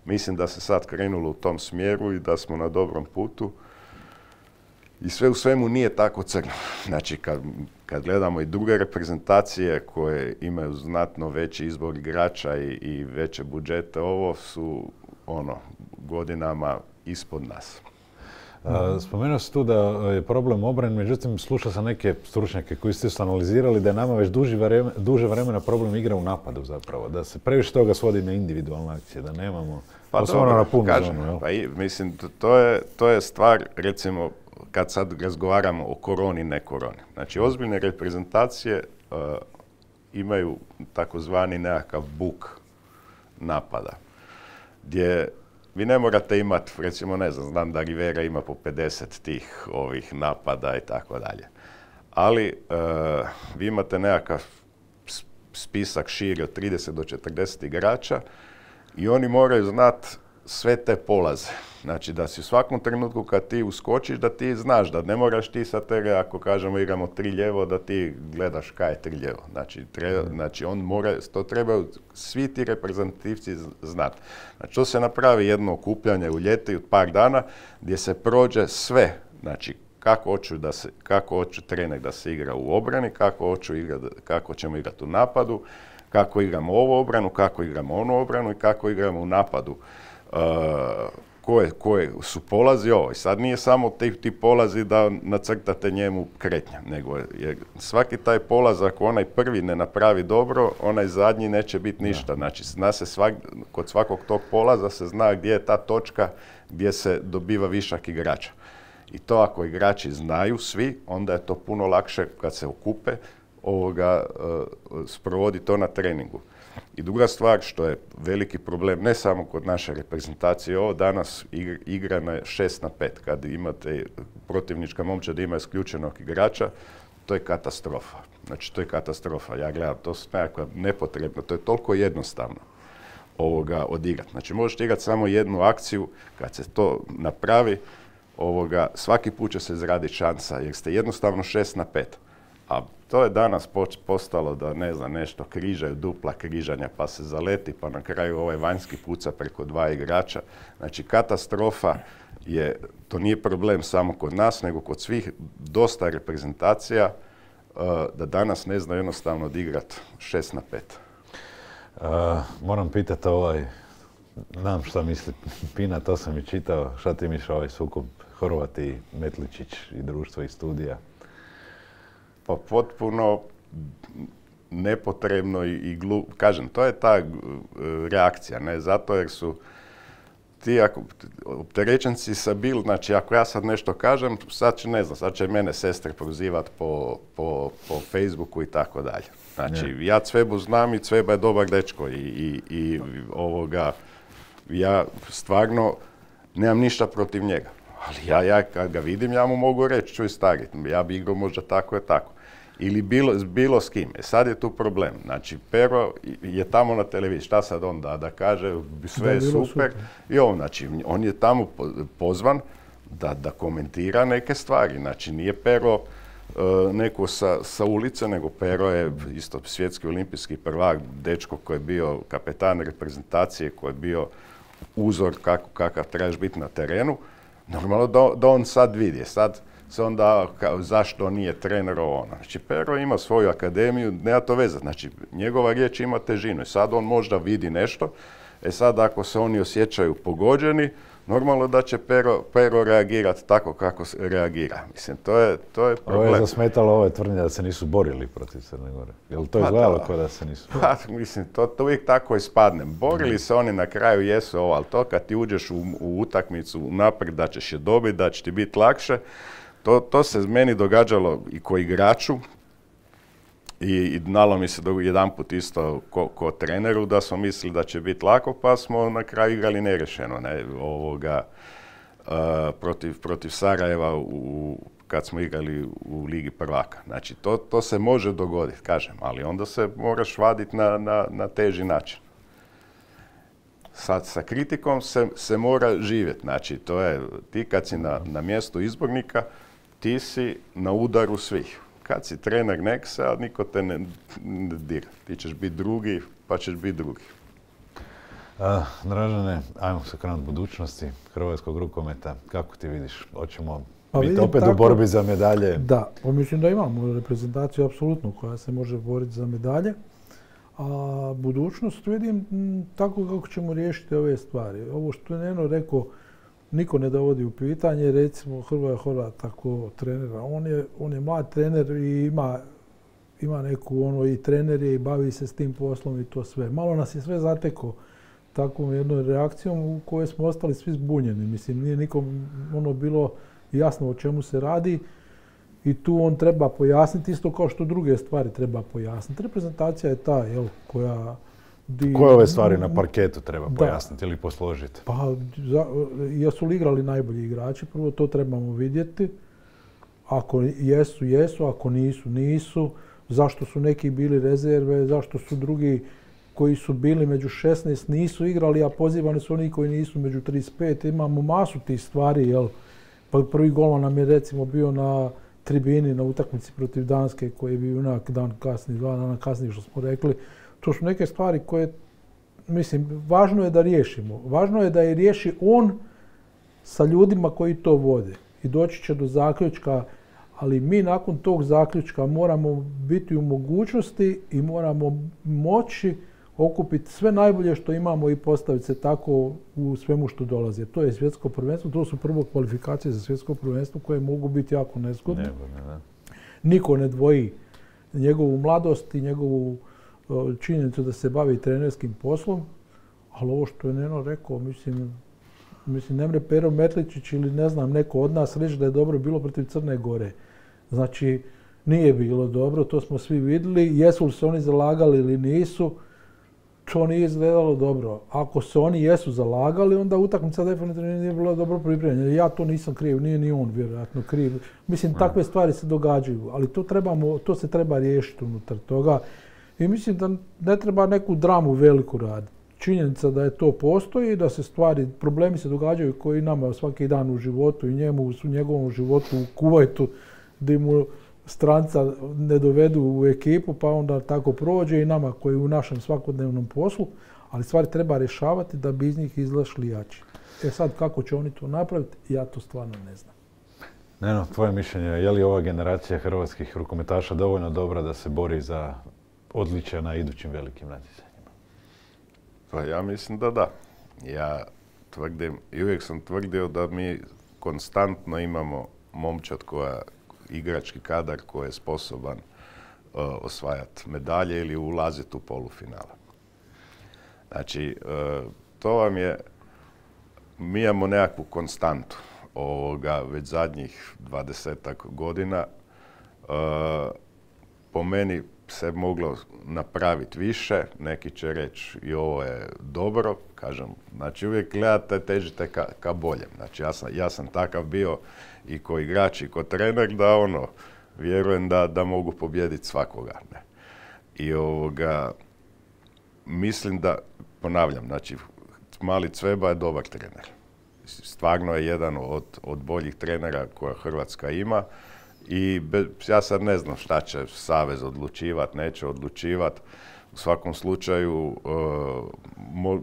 Mislim da se sad krenulo u tom smjeru i da smo na dobrom putu. I sve u svemu nije tako crno. Znači, kad, kad gledamo i druge reprezentacije koje imaju znatno veći izbor igrača i, i veće budžete, ovo su ono, godinama ispod nas. Spomenuo si tu da je problem obrane, međutim slušao sam neke stručnjake koji su analizirali da je nama već duže vremena, duže vremena problem igra u napadu zapravo, da se previše toga svodi na individualne akcije, da nemamo pa dobro, na punu kažem, zonu. Jel? Pa i, mislim, to je, to je stvar, recimo, kad sad razgovaramo o koroni, ne koroni. Znači, ozbiljne reprezentacije uh, imaju takozvani nekakav buk napada, gdje vi ne morate imati, recimo, ne znam, znam da Rivera ima po pedeset tih ovih napada i tako dalje. Ali uh, vi imate nekakav spisak širi od trideset do četrdeset igrača i oni moraju znati sve te polaze. Znači da si u svakom trenutku kad ti uskočiš da ti znaš da ne moraš ti sa tebe, ako kažemo igramo tri lijevo, da ti gledaš kaj je tri lijevo. Znači, treba, znači on mora, to trebaju svi ti reprezentativci znati. Znači to se napravi jedno okupljanje u ljeti od par dana gdje se prođe sve. Znači kako hoću da se, kako hoću trener da se igra u obrani, kako hoću igrati, kako ćemo igrati u napadu, kako igramo ovu obranu, kako igramo onu obranu i kako igramo u napadu. Uh, koje, koje su polazi ovo. I sad nije samo ti, ti polazi da nacrtate njemu kretnja, nego je svaki taj polaz, ako onaj prvi ne napravi dobro, onaj zadnji neće biti ništa. Znači, zna se svak, kod svakog tog polaza se zna gdje je ta točka gdje se dobiva višak igrača. I to ako igrači znaju svi, onda je to puno lakše kad se okupe ovoga, uh, sprovodi to na treningu. I druga stvar što je veliki problem, ne samo kod naše reprezentacije, ovo danas igra na šest na pet. Kad imate protivnička momčad ima isključenog igrača, to je katastrofa. Znači, to je katastrofa. Ja gledam, to su nekakva nepotrebno, to je toliko jednostavno ovoga odigrati. Znači, možete igrati samo jednu akciju, kad se to napravi, ovoga, svaki put će se izraditi šansa, jer ste jednostavno šest na pet. A to je danas postalo da, ne znam, nešto križaju, dupla križanja, pa se zaleti, pa na kraju ovaj vanjski puca preko dva igrača. Znači, katastrofa je, to nije problem samo kod nas, nego kod svih dosta reprezentacija, uh, da danas ne zna jednostavno odigrati šest na pet. Uh, moram pitati ovaj, znam šta misli Pina, to sam i čitao. Šta ti misliš ovaj sukob Horvat i Metličić i društvo iz studija? Pa potpuno nepotrebno i, i glup. Kažem, to je ta reakcija, ne? Zato jer su ti ako, opterećenci sa bil, znači ako ja sad nešto kažem, sad će, ne znam, sad će mene sestre prozivat po, po, po Facebooku i tako dalje. Znači, ne. Ja Cvebu znam i Cveba je dobar dečko i, i, i ovoga, ja stvarno nemam ništa protiv njega. Ali ja, ja kad ga vidim, ja mu mogu reći, čuj stari, ja bi igrao možda tako je tako. Ili bilo, bilo s kim. E sad je tu problem. Znači, Pero je tamo na televiziji. Šta sad on da, da kaže, sve je super. super. I on, znači, on je tamo pozvan da, da komentira neke stvari. Znači, nije Pero uh, neko sa, sa ulice, nego Pero je isto svjetski olimpijski prvak, dečko koji je bio kapetan reprezentacije, koji je bio uzor kako, kakav trebaš biti na terenu. Normalno da, da on sad vidi. Sad se onda kao, zašto nije trener ono. Znači, Pero ima svoju akademiju, nema to veze. Znači, njegova riječ ima težinu i sad on možda vidi nešto. E sad, ako se oni osjećaju pogođeni, normalno da će Pero, Pero reagirati tako kako se reagira. Mislim, to je, to je problem. Ovo je zasmetalo ove tvrdnje da se nisu borili protiv Crne Gore. Je li to izgledalo kao da se nisu borili? Pa, mislim, to, to uvijek tako ispadne. Borili se oni na kraju, jesu ovo, ali to kad ti uđeš u, u utakmicu naprijed da ćeš je dobiti, da će ti biti lakše, To, to se meni događalo i ko igraču i, i znalo mi se jedanput isto ko, ko treneru da smo mislili da će biti lako, pa smo na kraju igrali nerešeno, ne, ovoga, uh, protiv, protiv Sarajeva u, kad smo igrali u Ligi prvaka. Znači, to, to se može dogoditi, kažem, ali onda se moraš vaditi na, na, na teži način. Sad, sa kritikom se, se mora živjeti. Znači, to je, ti kad si na, na mjestu izbornika, ti si na udaru svih. Kad si trener Nexa, niko te ne, ne dira. Ti ćeš biti drugi, pa ćeš biti drugi. A, Dražene, ajmo se krenuti budućnosti hrvatskog rukometa. Kako ti vidiš? Hoćemo pa biti opet tako, u borbi za medalje? Da, pa mislim da imamo reprezentaciju apsolutno koja se može boriti za medalje. A budućnost vidim m, tako kako ćemo riješiti ove stvari. Ovo što je Neno rekao, niko ne dovodi u pitanje, recimo Hrvoje Horvat tako trenera. On je, on je mlad trener i ima, ima neku ono i trener je i bavi se s tim poslom i to sve. Malo nas je sve zatekao takvom jednom reakcijom u kojoj smo ostali svi zbunjeni. Mislim, nije nikom ono bilo jasno o čemu se radi. I tu on treba pojasniti isto kao što druge stvari treba pojasniti. Reprezentacija je ta, jel, koja... Di, koje ove stvari na parketu treba da pojasniti ili posložiti? Pa, za, jesu li igrali najbolji igrači? Prvo to trebamo vidjeti. Ako jesu, jesu. Ako nisu, nisu. Zašto su neki bili rezerve? Zašto su drugi koji su bili među šesnaest nisu igrali, a pozivani su oni koji nisu među trideset pet? Imamo masu tih stvari, jel? Pa prvi golman nam je recimo bio na tribini na utakmici protiv Danske koji je bio onak dan kasnije, dva dana kasnije što smo rekli. To su neke stvari koje, mislim, važno je da riješimo. Važno je da je riješi on sa ljudima koji to vode. I doći će do zaključka, ali mi nakon tog zaključka moramo biti u mogućnosti i moramo moći okupiti sve najbolje što imamo i postaviti se tako u svemu što dolazi. To je svjetsko prvenstvo, to su prvo kvalifikacije za svjetsko prvenstvo koje mogu biti jako nezgodne. Ne, ne, ne. Niko ne dvoji njegovu mladost i njegovu činjenicu da se bavi trenerskim poslom, ali ovo što je Neno rekao, mislim, mislim ne mre Pero Metličić ili ne znam neko od nas reći da je dobro bilo protiv Crne Gore. Znači, nije bilo dobro, to smo svi vidjeli. Jesu li se oni zalagali ili nisu, to nije izgledalo dobro. Ako se oni jesu zalagali, onda utakmica definitivno nije bila dobro pripremljena. Ja to nisam kriv, nije ni on vjerojatno kriv. Mislim, takve stvari se događaju, ali to, trebamo, to se treba riješiti unutar toga. I mislim da ne treba neku dramu veliku raditi. Činjenica da je to postoji, da se stvari, problemi se događaju koji nama svaki dan u životu i njemu u njegovom životu u Kuvajtu, da mu stranca ne dovedu u ekipu pa onda tako prođe i nama koji u našem svakodnevnom poslu, ali stvari treba rješavati da bi iz njih izašli jači. E sad kako će oni to napraviti, ja to stvarno ne znam. Neno, tvoje mišljenje, je li ova generacija hrvatskih rukometaša dovoljno dobra da se bori za odličja na idućim velikim natjecanjima? Pa ja mislim da da. Ja tvrdim, i uvijek sam tvrdio da mi konstantno imamo momčad koja, igrački kadar koji je sposoban uh, osvajati medalje ili ulaziti u polufinale. Znači, uh, to vam je, mi imamo nekakvu konstantu ovoga već zadnjih dvadesetak godina. Uh, po meni se moglo napraviti više, neki će reći i ovo je dobro, kažem, znači uvijek gledate, težite ka, ka boljem. Znači ja sam, ja sam takav bio i ko igrač i ko trener da ono, vjerujem da, da mogu pobijediti svakoga. Ne. I ovoga, mislim da, ponavljam, znači mali Cveba je dobar trener. Stvarno je jedan od, od boljih trenera koja Hrvatska ima. I be, ja sad ne znam šta će Savez odlučivat, neće odlučivat. U svakom slučaju uh, mo,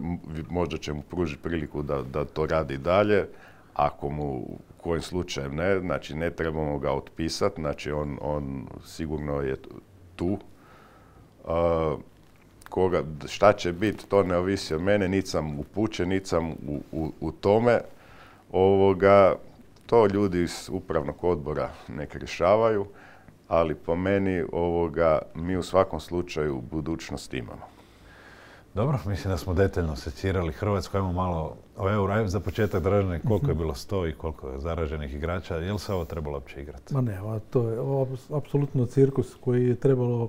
možda će mu pružiti priliku da, da to radi dalje. Ako mu kojim slučajem ne, znači ne trebamo ga otpisati, znači on, on sigurno je tu. Uh, koga, šta će biti, to ne ovisi od mene, niti sam upućen, niti sam u, u, u tome. Ovoga, to ljudi iz upravnog odbora nek rješavaju, ali po meni ovoga, mi u svakom slučaju budućnost imamo. Dobro, mislim da smo detaljno secirali Hrvatsku. Ajmo malo o euro. Ajmo za početak Dražene, koliko je bilo sto i koliko je zaraženih igrača. Je li se ovo trebalo uopće igrati? Ma ne, to je apsolutno cirkus koji je trebalo,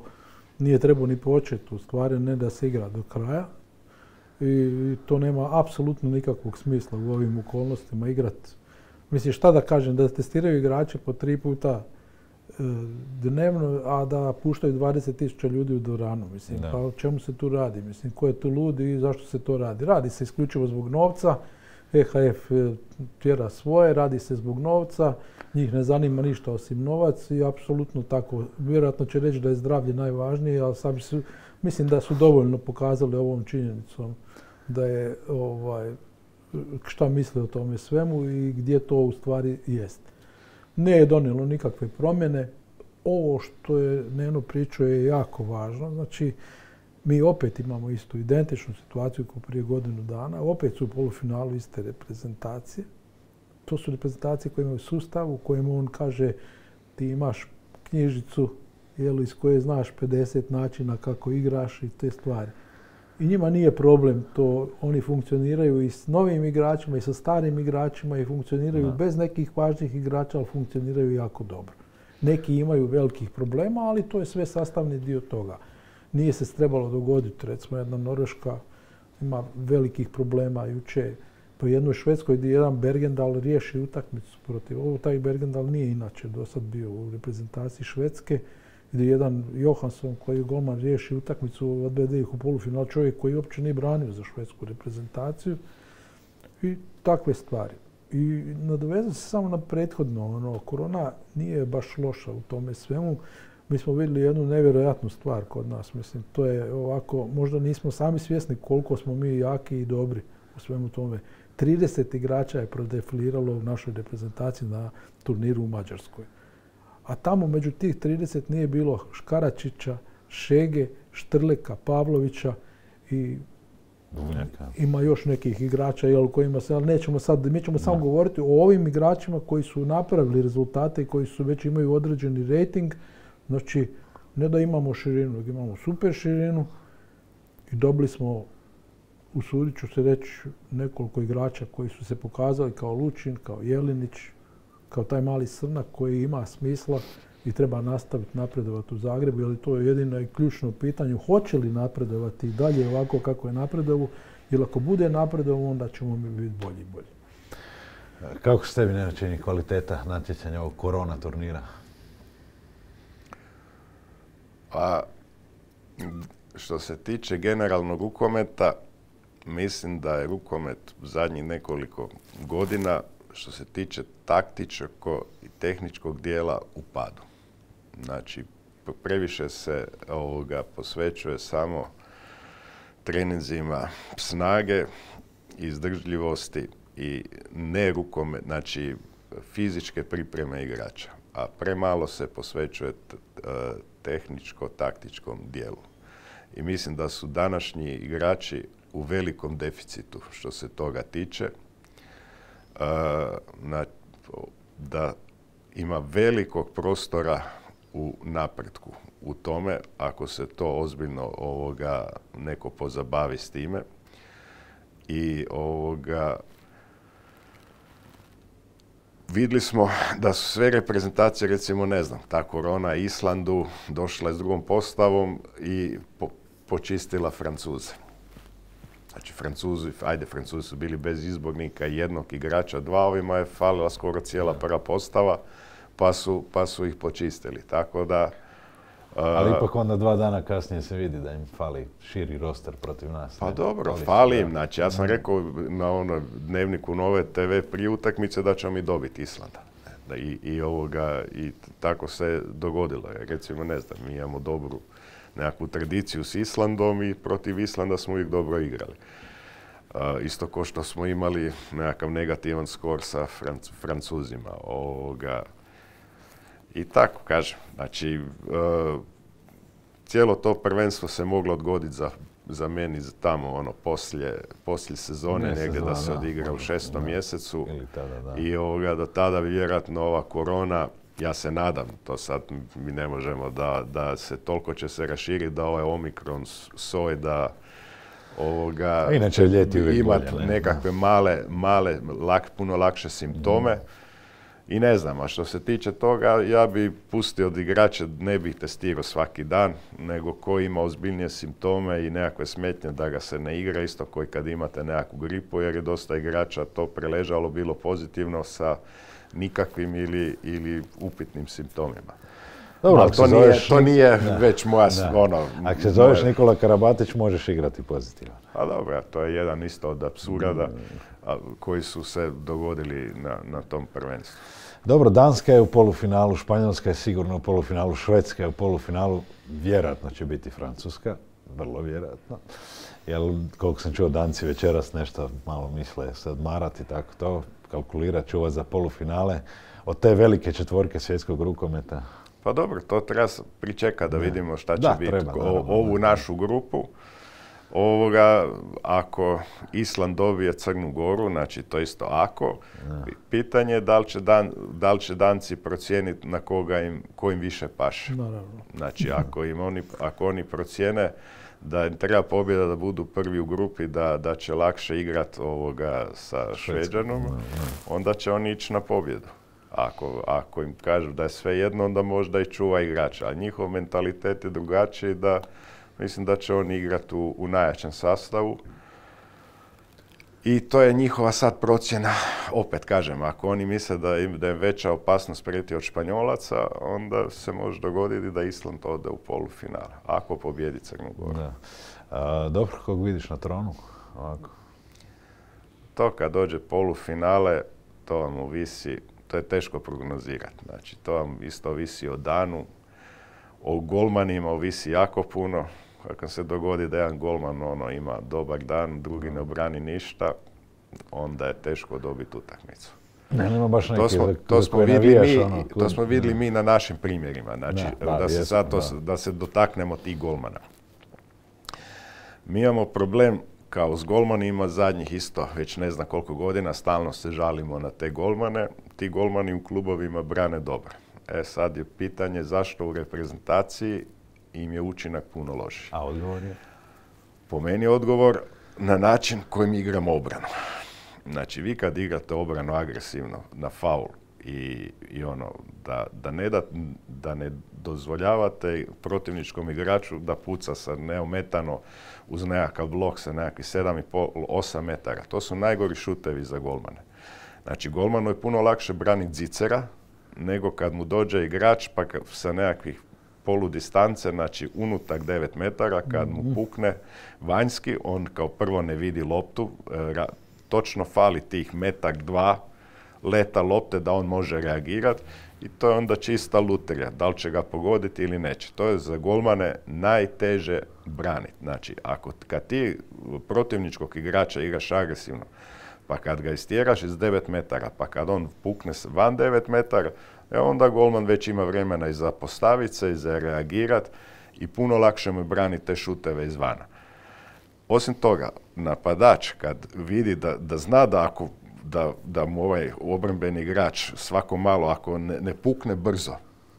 nije trebao ni početi u stvari, ne da se igra do kraja. I to nema apsolutno nikakvog smisla u ovim okolnostima igrati. Mislim, šta da kažem, da testiraju igrače po tri puta e, dnevno, a da puštaju dvadeset tisuća ljudi u dvoranu. Mislim, pa o čemu se tu radi? Mislim, ko je tu lud i zašto se to radi? Radi se isključivo zbog novca, E H F tjera svoje, radi se zbog novca, njih ne zanima ništa osim novac i apsolutno tako. Vjerojatno će reći da je zdravlje najvažnije, ali sami su, mislim da su dovoljno pokazali ovom činjenicom da je ovaj, šta misle o tome svemu i gdje to u stvari jest. Ne je donijelo nikakve promjene. Ovo što je Neno pričao je jako važno. Znači, mi opet imamo istu identičnu situaciju kao prije godinu dana. Opet su u polufinalu iste reprezentacije. To su reprezentacije koje imaju sustav u kojem on kaže ti imaš knjižicu jel, iz koje znaš pedeset načina kako igraš i te stvari. I njima nije problem to, oni funkcioniraju i s novim igračima i sa starim igračima i funkcioniraju da. bez nekih važnih igrača, ali funkcioniraju jako dobro. Neki imaju velikih problema, ali to je sve sastavni dio toga. Nije se trebalo dogoditi, recimo jedna Norveška ima velikih problema juče. Po jednoj Švedskoj gdje jedan Bergendal riješi utakmicu protiv. Ovo taj Bergendal nije inače do sad bio u reprezentaciji Švedske, gdje jedan Johansson koji je golman riješi utakmicu, odvede ih u polufinal, čovjek koji uopće nije branio za švedsku reprezentaciju i takve stvari. I nadovezam se samo na prethodno, ono, korona nije baš loša u tome svemu. Mi smo vidjeli jednu nevjerojatnu stvar kod nas, mislim, to je ovako, možda nismo sami svjesni koliko smo mi jaki i dobri u svemu tome. trideset igrača je prodefiliralo u našoj reprezentaciji na turniru u Mađarskoj. A tamo među tih trideset nije bilo Škaračića, Šege, Štrleka, Pavlovića i Dunjaka. Ima još nekih igrača jel, kojima se, ali nećemo sad, mi ćemo samo govoriti o ovim igračima koji su napravili rezultate i koji su već imaju određeni rating. Znači, ne da imamo širinu, nego imamo super širinu i dobili smo, usudit ću se reći, nekoliko igrača koji su se pokazali kao Lučin, kao Jelinić, kao taj mali Srnak koji ima smisla i treba nastaviti napredovati u Zagrebu, jer to je jedino i ključno pitanje. Hoće li napredovati i dalje ovako kako je napredovu, jer ako bude napredovu, onda ćemo mi biti bolji i bolji. Kako se tebi ne čini kvaliteta natjecanja ovog korona turnira? Pa, što se tiče generalnog rukometa, mislim da je rukomet zadnjih nekoliko godina što se tiče taktičkog i tehničkog dijela u padu. Znači, previše se ovoga posvećuje samo treninzima snage, izdržljivosti i ne rukomet, znači fizičke pripreme igrača, a premalo se posvećuje tehničko-taktičkom dijelu. I mislim da su današnji igrači u velikom deficitu što se toga tiče. Na, da ima velikog prostora u napretku u tome, ako se to ozbiljno ovoga neko pozabavi s time. I ovoga vidjeli smo da su sve reprezentacije, recimo, ne znam, ta korona Islandu došla s drugom postavom i po, počistila Francuze. Znači, Francuzi, ajde, Francuzi su bili bez izbornika jednog igrača, dva, ovima je falila skoro cijela prva postava, pa su, pa su ih počistili. Tako da... Uh, Ali ipak onda dva dana kasnije se vidi da im fali širi roster protiv nas. Pa ne? dobro, fali, fali im. Znači, ja sam rekao na ono dnevniku Nove te ve prije utakmice da ćemo mi dobiti Islanda. I, i, ovoga, i tako se dogodilo. Recimo, ne znam, mi imamo dobru nekakvu tradiciju s Islandom i protiv Islanda smo uvijek dobro igrali. Uh, isto kao što smo imali nekakav negativan skor sa Franc- Francuzima. Ovoga, I tako, kažem. Znači, uh, cijelo to prvenstvo se moglo odgoditi za, za meni za tamo, ono, poslije, poslije sezone, Mjesec, negdje da, da se da, odigra u šestom da, mjesecu. ili tada, da. I ovoga, do tada vjerojatno ova korona, ja se nadam, to sad mi ne možemo, da, da se toliko će se raširiti da ovaj Omikron soj da ovoga, inače ljeti uvijek imati bolje, ne? nekakve male, male lak, puno lakše simptome. Mm. I ne znam, a što se tiče toga, ja bi pustio od igrača, ne bih testirao svaki dan, nego ko ima ozbiljnije simptome i nekakve smetnje da ga se ne igra, isto koji kad imate nekakvu gripu, jer je dosta igrača to preležalo, bilo pozitivno sa nikakvim ili, ili upitnim simptomima. Dobro, ali to nije, to nije da, već moja, da. ono... Ako se zoveš moja... Nikola Karabatić, možeš igrati pozitivan. A dobro, to je jedan isto od apsurda a, koji su se dogodili na, na tom prvenstvu. Dobro, Danska je u polufinalu, Španjolska je sigurno u polufinalu, Švedska je u polufinalu, vjerojatno će biti Francuska, vrlo vjerojatno. Jer, koliko sam čuo, Danci večeras nešto malo misle se odmarati, tako to, kalkulirat čuva za polufinale. Od te velike četvorke svjetskog rukometa. Pa dobro, to treba pričekati da vidimo šta će da, biti. Treba, o, naravno, ovu da. našu grupu, ovoga, ako Island dobije Crnu Goru, znači to isto ako, da. Pitanje je da li će, dan, da li će Danci procijeniti na koga im, ko im više paše. Naravno. Znači, ako, im oni, ako oni procijene da im treba pobjeda da budu prvi u grupi, da, da će lakše igrati ovoga sa Šveđanom, onda će oni ići na pobjedu. Ako, ako im kažu da je sve jedno, onda možda i čuva igrača. A njihov mentalitet je drugačiji, da mislim da će oni igrati u, u najjačem sastavu. I to je njihova sad procjena. Opet kažem, ako oni misle da im da je veća opasnost prijeti od Španjolaca, onda se može dogoditi da Island ode u polufinale, ako pobjedi Crnu Goru. Da. A, dobro, kog vidiš na tronu? Ovako. To kad dođe polufinale, to vam ovisi, to je teško prognozirati. Znači, to vam isto ovisi o danu, o golmanima ovisi jako puno. Ako se dogodi da jedan golman ono, ima dobar dan, drugi ne obrani ništa, onda je teško dobiti utakmicu. Ne, nema baš neki to smo, za, to za smo vidjeli navijaš, mi, ono, to smo vidjeli mi na našim primjerima. Znači, da, da, da, se jesmo, sad to, da. da se dotaknemo tih golmana. Mi imamo problem kao s golmanima zadnjih isto, već ne znam koliko godina, stalno se žalimo na te golmane. Ti golmani u klubovima brane dobro. E sad je pitanje zašto u reprezentaciji im je učinak puno lošiji. A odgovor je? Po meni je odgovor na način kojim igramo obranu. Znači, vi kad igrate obranu agresivno na faul i, i ono, da, da, ne da, da ne dozvoljavate protivničkom igraču da puca sa neometano uz nekakav blok sa nekakvih sedam i pol do osam metara. To su najgori šutevi za golmane. Znači, golmanu je puno lakše braniti zicera nego kad mu dođe igrač pa sa nekakvih polu distance, znači unutar devet metara, kad mu pukne vanjski, on kao prvo ne vidi loptu, ra, točno fali tih metak dva leta lopte da on može reagirati i to je onda čista lutrija, da li će ga pogoditi ili neće. To je za golmane najteže braniti. Znači, ako kad ti protivničkog igrača igraš agresivno, pa kad ga istjeraš iz devet metara, pa kad on pukne van devet metara, e onda golman već ima vremena i za postaviti se i za reagirati i puno lakše mu braniti te šuteve izvana. osim toga, napadač kad vidi da, da zna da ako da, da mu ovaj obrambeni igrač svako malo, ako ne, ne pukne brzo,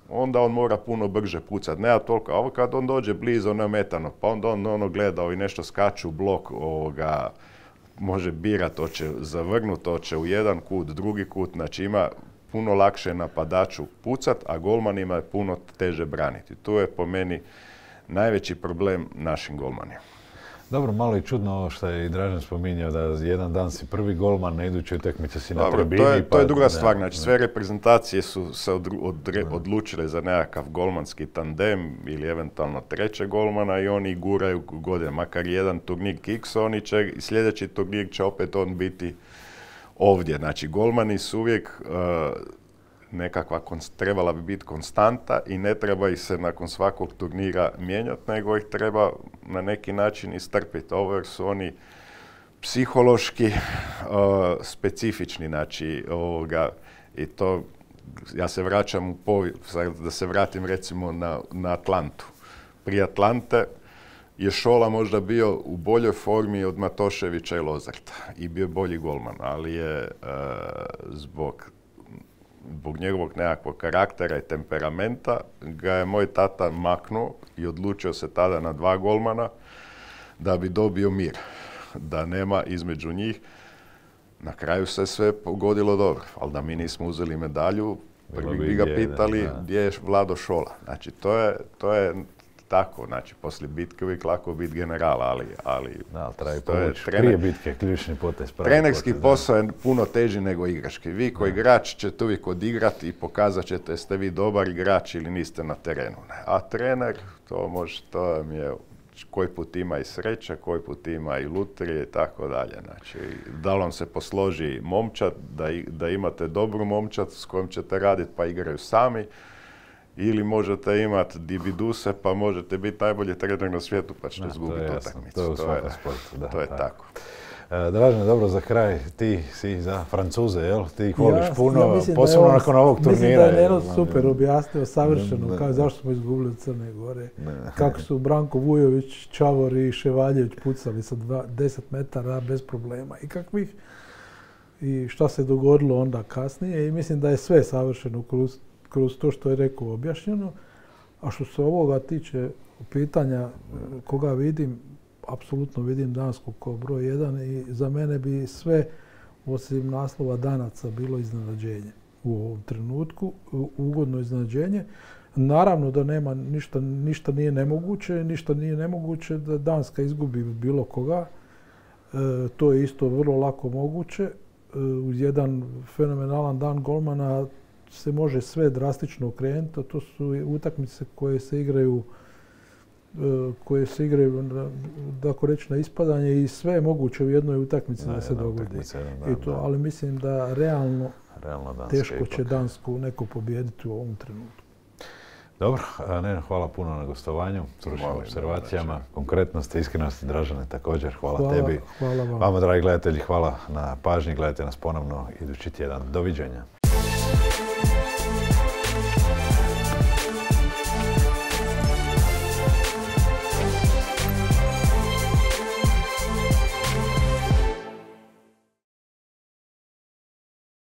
onda on mora puno brže pucati. Nema toliko, a ovo kad on dođe blizu neometano, pa onda on ono gleda i nešto skaču u blok, ovoga, može birat, hoće zavrnut, hoće u jedan kut, drugi kut, znači ima puno lakše napadaču pucat, a golmanima je puno teže braniti. Tu je po meni najveći problem našim golmanima. Dobro, malo je čudno ovo što je i Dražen spominjao, da jedan dan si prvi golman, na idućoj utakmici si na tribini. To je, to je pa, druga ne, stvar, znači ne. sve reprezentacije su se odru, odre, odlučile za nekakav golmanski tandem ili eventualno treće golmana i oni guraju godine, makar jedan turnir kiks, oni će, i sljedeći turnir će opet on biti ovdje. Znači golmani su uvijek uh, nekakva, trebala bi biti konstanta i ne treba ih se nakon svakog turnira mijenjati, nego ih treba na neki način istrpiti. Ovo jer su oni psihološki uh, specifični, znači ovoga, i to, ja se vraćam u povijest, da se vratim recimo na, na Atlantu. Prije Atlante je Šola možda bio u boljoj formi od Matoševića i Lozarta i bio bolji golman, ali je uh, zbog zbog njegovog nekakvog karaktera i temperamenta ga je moj tata maknuo i odlučio se tada na dva golmana da bi dobio mir, da nema između njih. Na kraju se sve pogodilo dobro, ali da mi nismo uzeli medalju, prvi bi ga pitali gdje je Vlado Šola. Znači to je, to je tako, znači poslije bitke uvijek lako biti general, ali... ali da, treba povući prije bitke, ključni potez. Trenerski posao je puno teži nego igrački. Vi koji igrač ćete uvijek odigrati i pokazat ćete jeste vi dobar igrač ili niste na terenu. A trener, to može, to mi je, koji put ima i sreće, koji put ima i lutrije i tako dalje. Znači, da li vam se posloži momčad, da, da imate dobru momčad s kojom ćete raditi pa igraju sami, ili možete imati dibiduse pa možete biti najbolji trener na svijetu pa ćete izgubiti utakmicu. To je u svakom sportu. Da, to je tako. tako. E, Dražen, dobro, za kraj, ti si za Francuze, jel? Ti ih voliš ja, puno, ja posebno on, nakon ovog turnira. Mislim da je Neno super objasnio, savršeno, ne, ne, kao zašto smo izgubili Crne Gore. Ne. Kako su Branko Vujović, Čavor i Ševaljević pucali sa dva, deset metara bez problema i kakvih. I šta se dogodilo onda kasnije i mislim da je sve savršeno kroz kroz to što je rekao objašnjeno. A što se ovoga tiče pitanja koga vidim, apsolutno vidim Dansku kao broj jedan i za mene bi sve osim naslova Danaca bilo iznenađenje u ovom trenutku, ugodno iznenađenje. Naravno da nema ništa, ništa nije nemoguće, ništa nije nemoguće da Danska izgubi bilo koga. E, to je isto vrlo lako moguće. E, uz jedan fenomenalan dan golmana se može sve drastično okrenuti, a to su utakmice koje se igraju koje se igraju, da ako reći, na ispadanje i sve je moguće u jednoj utakmici da, da se dogodi. I to, ali mislim da realno, realno teško će Dansku neko pobijediti u ovom trenutku. Dobro, ne, hvala puno na gostovanju, stručnim observacijama, konkretnosti, iskrenosti, Dražene također, hvala, hvala tebi. Hvala vam. Vama, dragi gledatelji, hvala na pažnji, gledajte nas ponovno idući tjedan. Doviđenja.